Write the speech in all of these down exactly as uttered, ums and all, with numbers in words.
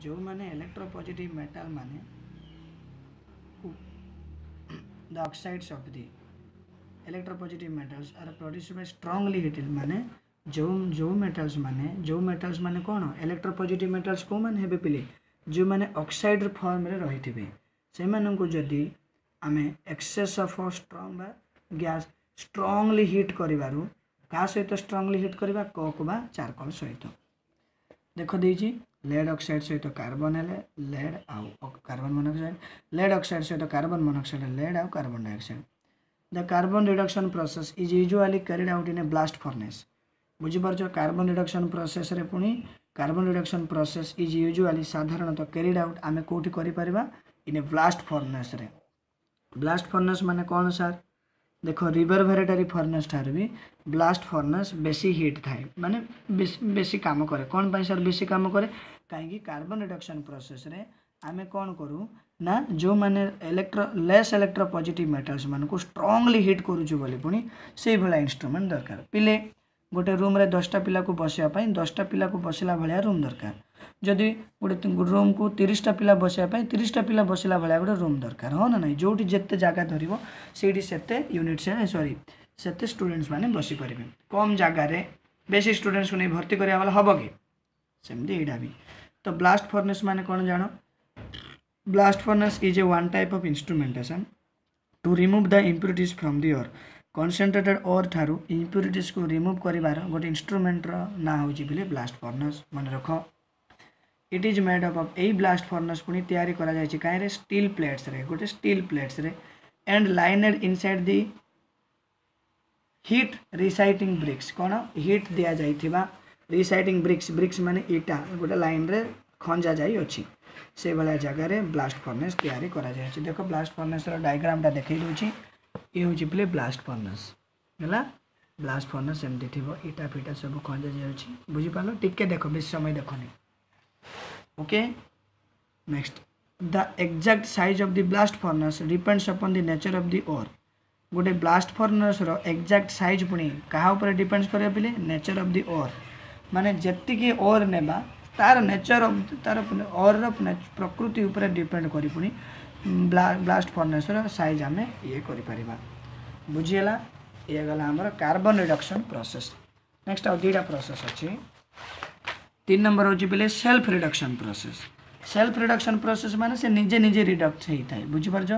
ଯେଉଁମାନେ ଇଲେକ୍ଟ୍ରୋପଜିଟିଭ୍ ମେଟାଲ୍ ମାନେ the oxides of the electropositive metals are produced by strongly heated ମାନେ ଯେଉଁ ଯେଉଁ ମେଟାଲ୍ସ ମାନେ ଯେଉଁ ମେଟାଲ୍ସ ମାନେ କ'ଣ ଇଲେକ୍ଟ୍ରୋପଜିଟିଭ୍ ମେଟାଲ୍ସ କେଉଁମାନେ ହେବେ ପିଲେ ଯେଉଁମାନେ ଅକ୍ସାଇଡ୍ ଫର୍ମରେ ରହିଥିବେ ସେମାନଙ୍କୁ ଯଦି ଆମେ ଏକ୍ସେସ୍ ଅଫ୍ ଷ୍ଟ୍ରଙ୍ଗ ବା ଗ୍ୟାସ୍ ଷ୍ଟ୍ରଙ୍ଗଲି ହିଟ୍ କରିବାରୁ କାହା ସହିତ ଷ୍ଟ୍ରଙ୍ଗଲି ହିଟ୍ କରିବା କୋକ୍ ବା ଚାରକୋଲ୍ ସହିତ ଦେଖ ଦେଇଛି ଲେଡ୍ ଅକ୍ସାଇଡ୍ ସହିତ କାର୍ବନ ହେଲେ ଲେଡ୍ ଆଉ କାର୍ବନ ମନୋକ୍ସାଇଡ୍ ଲେଡ୍ ଅକ୍ସାଇଡ୍ ସହିତ କାର୍ବନ ମନୋକ୍ସାଇଡ୍ ଲେଡ୍ ଆଉ carbon dioxide the carbon reduction process is usually carried out in a blast furnace ବୁଝିପାରୁଛ କାର୍ବନ ରିଡକ୍ସନ୍ ପ୍ରୋସେସ୍ରେ ପୁଣି carbon reduction process is usually ସାଧାରଣତଃ carried out ଆମେ କେଉଁଠି କରିପାରିବା ଇନ୍ ଏ ବ୍ଲାଷ୍ଟ ଫର୍ନେସ୍ରେ ବ୍ଲାଷ୍ଟ ଫର୍ନେସ୍ ମାନେ କ'ଣ ସାର୍ ଦେଖ ରିଭରଭେରେଟରୀ ଫର୍ନେସ୍ ଠାରୁ ବି ବ୍ଲାଷ୍ଟ ଫର୍ନେସ୍ ବେଶୀ ହିଟ୍ ଥାଏ ମାନେ ବେଶୀ ବେଶୀ କାମ କରେ କ'ଣ ପାଇଁ ସାର୍ ବେଶୀ କାମ କରେ କାହିଁକି କାର୍ବନ ରିଡକ୍ସନ୍ ପ୍ରୋସେସ୍ରେ ଆମେ କ'ଣ କରୁ ନା ଯେଉଁମାନେ electro less electro positive metals ମାନଙ୍କୁ ଷ୍ଟ୍ରଙ୍ଗଲି ହିଟ୍ କରୁଛୁ ବୋଲି ପୁଣି ସେଇଭଳିଆ ଇନଷ୍ଟ୍ରୁମେଣ୍ଟ ଦରକାର ପିଲେ ଗୋଟେ ରୁମ୍ରେ ଦଶଟା ପିଲାକୁ ବସିବା ପାଇଁ ଦଶଟା ପିଲାକୁ ବସିଲା ଭଳିଆ ରୁମ୍ ଦରକାର ଯଦି ଗୋଟେ ରୁମ୍କୁ ତିରିଶଟା ପିଲା ବସିବା ପାଇଁ ତିରିଶଟା ପିଲା ବସିଲା ଭଳିଆ ଗୋଟେ ରୁମ୍ ଦରକାର ହଁ ନା ନାହିଁ ଯେଉଁଠି ଯେତେ ଜାଗା ଧରିବ ସେଇଠି ସେତେ ୟୁନିଟ୍ସ ସରି ସେତେ ଷ୍ଟୁଡେଣ୍ଟସ୍ ମାନେ ବସିପାରିବେ କମ୍ ଜାଗାରେ ବେଶୀ ଷ୍ଟୁଡେଣ୍ଟସ୍କୁ ନେଇ ଭର୍ତ୍ତି କରିବା ବେଲେ ହେବ କି ସେମିତି ଏଇଟା ବି ତ ବ୍ଲାଷ୍ଟ ଫର୍ନେସ୍ ମାନେ କ'ଣ ଜାଣ blast furnace is a one type of instrumentation two remove the impurities from the or concentrated or ଠାରୁ ଇମ୍ପ୍ୟୁରିଟିଜ୍କୁ ରିମୁଭ୍ କରିବାର ଗୋଟେ ଇନଷ୍ଟ୍ରୁମେଣ୍ଟର ନାଁ ହେଉଛି ବୋଲି ବ୍ଲାଷ୍ଟ ଫର୍ନେସ୍ ମନେ ରଖ it is made up of ଏଇ ବ୍ଲାଷ୍ଟ ଫର୍ନେସ୍ ପୁଣି ତିଆରି କରାଯାଇଛି କାହିଁରେ ଷ୍ଟିଲ୍ ପ୍ଲେଟ୍ସରେ ଗୋଟେ ଷ୍ଟିଲ୍ ପ୍ଲେଟ୍ସରେ and lined inside the heat resisting bricks କ'ଣ ହିଟ୍ ଦିଆଯାଇଥିବା ରେଜିଷ୍ଟିଂ ବ୍ରିକ୍ସ ବ୍ରିକ୍ସ ମାନେ ଇଟା ଗୋଟେ ଲାଇନ୍ରେ ଖଞ୍ଜା ଯାଇଅଛି ସେଇଭଳିଆ ଜାଗାରେ ବ୍ଲାଷ୍ଟ ଫର୍ନେସ୍ ତିଆରି କରାଯାଇଛି ଦେଖ ବ୍ଲାଷ୍ଟ ଫର୍ନେସ୍ର ଡାଇଗ୍ରାମଟା ଦେଖେଇ ଦେଉଛି ଇଏ ହେଉଛି ପିଲେ ବ୍ଲାଷ୍ଟ ଫର୍ନେସ୍ ହେଲା ବ୍ଲାଷ୍ଟ ଫର୍ନେସ୍ ଏମିତି ଥିବ ଇଟା ଫିଟା ସବୁ ଖଞ୍ଜା ଯାଉଛି ବୁଝିପାରିଲ ଟିକେ ଦେଖ ବେଶୀ ସମୟ ଦେଖନି okay next the exact size of the blast furnace depends upon the nature of the ore ଗୋଟେ ବ୍ଲାଷ୍ଟ ଫର୍ନେସ୍ର ଏକ୍ଜାକ୍ଟ ସାଇଜ୍ ପୁଣି କାହା ଉପରେ ଡିପେଣ୍ଡସ୍ କରିବ ପିଲେ ନେଚର୍ ଅଫ୍ the or ମାନେ ଯେତିକି ଓର୍ ନେବା ତାର ନେଚର୍ ଅଫ୍ ତାର ଓର୍ର ପ୍ରକୃତି ଉପରେ ଡିପେଣ୍ଡ କରି ପୁଣି ବ୍ଲାଷ୍ଟ ଫର୍ନେସ୍ର ସାଇଜ୍ ଆମେ ଇଏ କରିପାରିବା ବୁଝିହେଲା ଇଏ ଗଲା ଆମର କାର୍ବନ ରିଡକ୍ସନ୍ ପ୍ରୋସେସ୍ ନେକ୍ସଟ ଆଉ ଦୁଇଟା ପ୍ରୋସେସ୍ ଅଛି ତିନି ନମ୍ବର ହେଉଛି ପିଲେ self reduction process self reduction process ମାନେ ସେ ନିଜେ ନିଜେ ରିଡକ୍ଟ ହେଇଥାଏ ବୁଝିପାରୁଛ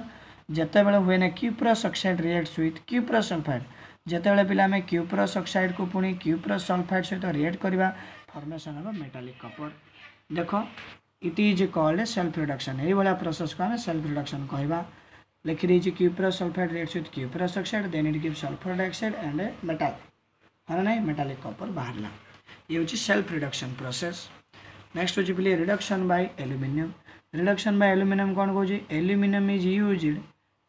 ଯେତେବେଳେ ହୁଏ ନା cuprous oxide reacts with cuprous sulphide ଯେତେବେଳେ ପିଲା ଆମେ କ୍ୟୁପ୍ରସ୍ ଅକ୍ସାଇଡ଼୍କୁ ପୁଣି କ୍ୟୁପ୍ରସ୍ ସଲଫାଇଡ଼୍ ସହିତ ରିଏକ୍ଟ କରିବା ଫର୍ମେସନ୍ ହେବ ମେଟାଲିକ୍ କପର ଦେଖ it is called self reduction ଏଇଭଳିଆ ପ୍ରୋସେସ୍କୁ ଆମେ ସେଲ୍ଫ ରିଡକ୍ସନ୍ କହିବା ଲେଖିଦେଇଛି cuprous sulphide reacts with cuprous oxide then it give sulphur dioxide and metal ହଁ ନା ନାହିଁ ମେଟାଲିକ୍ କପର ବାହାରିଲା ଇଏ ହେଉଛି ସେଲ୍ଫ ରିଡକ୍ସନ୍ ପ୍ରୋସେସ୍ ନେକ୍ସଟ ହେଉଛି ପିଲେ reduction by aluminium reduction by aluminium କ'ଣ କହୁଛି aluminium is used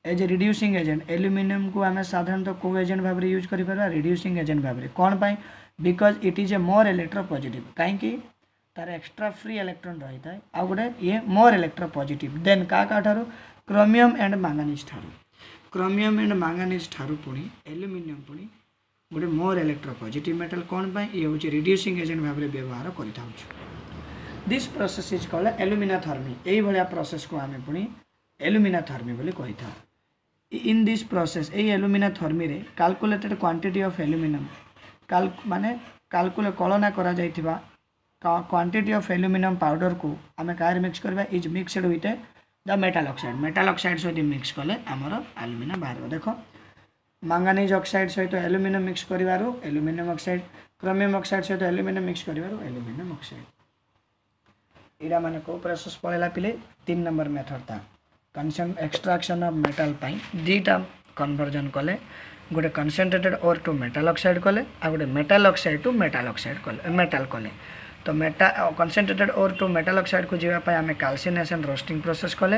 as a reducing agent ଆଲୁମିନିୟମକୁ ଆମେ ସାଧାରଣତଃ କେଉଁ ଏଜେଣ୍ଟ ଭାବରେ ୟୁଜ୍ କରିପାରିବା ରିଡ୍ୟୁସିଂ ଏଜେଣ୍ଟ ଭାବରେ କ'ଣ ପାଇଁ because it is a more electropositive କାହିଁକି ତାର ଏକ୍ସଟ୍ରା ଫ୍ରି ଇଲେକ୍ଟ୍ରନ୍ ରହିଥାଏ ଆଉ ଗୋଟେ ଇଏ ମୋର୍ ଇଲେକ୍ଟ୍ରୋ ପଜିଟିଭ୍ ଦେନ୍ କାହା କାହା କ୍ରୋମିୟମ୍ ଆଣ୍ଡ ମାଙ୍ଗାନିଜ୍ ଠାରୁ କ୍ରୋମିୟମ୍ ଆଣ୍ଡ ମାଙ୍ଗାନିଜ୍ ଠାରୁ ପୁଣି ଆଲୁମିନିୟମ୍ ପୁଣି ଗୋଟେ ମୋର୍ ଇଲେକ୍ଟ୍ରୋ ପଜିଟିଭ୍ ମେଟାଲ୍ କ'ଣ ପାଇଁ ଇଏ ହେଉଛି ରିଡ୍ୟୁସିଂ ଏଜେଣ୍ଟ ଭାବରେ ବ୍ୟବହାର କରିଥାଉଛୁ this process is called aluminothermy ଏଇଭଳିଆ ପ୍ରୋସେସ୍କୁ ଆମେ ପୁଣି ଏଲୁମିନାଥର୍ମି ବୋଲି କହିଥାଉ ଇନ୍ this process ଏଇ ଏଲୁମିନାଥର୍ମିରେ କାଲକୁଲେଟେଡ୍ କ୍ୱାଣ୍ଟିଟି ଅଫ୍ ଆଲୁମିନିୟମ୍ ମାନେ କାଲକୁଲେ କଳନା କରାଯାଇଥିବା କ୍ୱାଣ୍ଟିଟି ଅଫ୍ ଆଲୁମିନିୟମ୍ ପାଉଡ଼ରକୁ ଆମେ କାହାରେ ମିକ୍ସ କରିବା is mixed with the metal oxide metal oxide ସହିତ ମିକ୍ସ କଲେ ଆମର ଆଲୁମିନିୟମ୍ ବାହାରିବ ଦେଖ ମାଙ୍ଗାନିଜ୍ ଅକ୍ସାଇଡ୍ ସହିତ ଆଲୁମିନିୟମ୍ ମିକ୍ସ କରିବାରୁ ଆଲୁମିନିୟମ୍ ଅକ୍ସାଇଡ୍ କ୍ରୋମିୟମ୍ ଅକ୍ସାଇଡ୍ ସହିତ ଆଲୁମିନିୟମ୍ ମିକ୍ସ କରିବାରୁ ଆଲୁମିନିୟମ୍ ଅକ୍ସାଇଡ୍ ଏଇଟା ମାନେ କେଉଁ ପ୍ରୋସେସ୍ ପଳେଇଲା ପିଲେ ତିନି ନମ୍ବର ମେଥଡ଼ଟା କନସେନ୍ ଏକ୍ସଟ୍ରାକ୍ସନ୍ ଅଫ୍ ମେଟାଲ୍ ପାଇଁ ଦୁଇଟା କନଭର୍ଜନ୍ କଲେ ଗୋଟେ concentrated ore to metal oxide କଲେ ଆଉ ଗୋଟେ metal oxide to metal oxide କଲେ ମେଟାଲ୍ କଲେ ତ meta concentrated ore to metal ଅକ୍ସାଇଡ଼୍କୁ ଯିବା ପାଇଁ ଆମେ କାଲସିନେସନ୍ ରୋଷ୍ଟିଂ ପ୍ରୋସେସ୍ କଲେ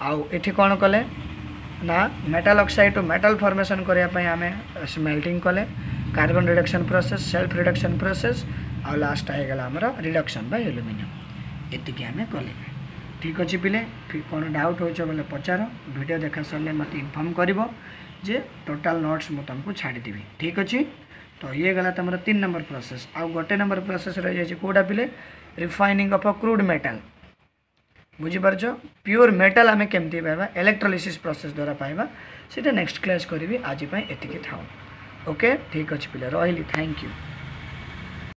ଆଉ ଏଠି କ'ଣ କଲେ ନା metal oxide to metal formation କରିବା ପାଇଁ ଆମେ ସ୍ମେଲ୍ଟିଂ କଲେ carbon reduction process self reduction process ଆଉ ଲାଷ୍ଟଟା ହେଇଗଲା ଆମର ରିଡକ୍ସନ୍ ବାଇ ଆଲୁମିନିୟମ୍ ଏତିକି ଆମେ କଲେ ଠିକ୍ ଅଛି ପିଲେ କ'ଣ ଡାଉଟ୍ ହେଉଛି ବୋଲେ ପଚାର ଭିଡ଼ିଓ ଦେଖା ସରିଲେ ମୋତେ ଇନଫର୍ମ କରିବ ଯେ ଟୋଟାଲ୍ ନୋଟ୍ସ ମୁଁ ତୁମକୁ ଛାଡ଼ିଦେବି ଠିକ୍ ଅଛି ତ ଇଏ ଗଲା ତୁମର ତିନି ନମ୍ବର ପ୍ରୋସେସ୍ ଆଉ ଗୋଟେ ନମ୍ବର ପ୍ରୋସେସ୍ ରହିଯାଇଛି କେଉଁଟା ପିଲେ refining of a crude metal ବୁଝିପାରୁଛ ପିଓର ମେଟାଲ ଆମେ କେମିତି ପାଇବା ଇଲେକ୍ଟ୍ରୋଲିସିସ୍ ପ୍ରୋସେସ୍ ଦ୍ୱାରା ପାଇବା ସେଇଟା ନେକ୍ସଟ କ୍ଲାସ୍ କରିବି ଆଜି ପାଇଁ ଏତିକି ଥାଉ ଓକେ ଠିକ୍ ଅଛି ପିଲା ରହିଲି thank you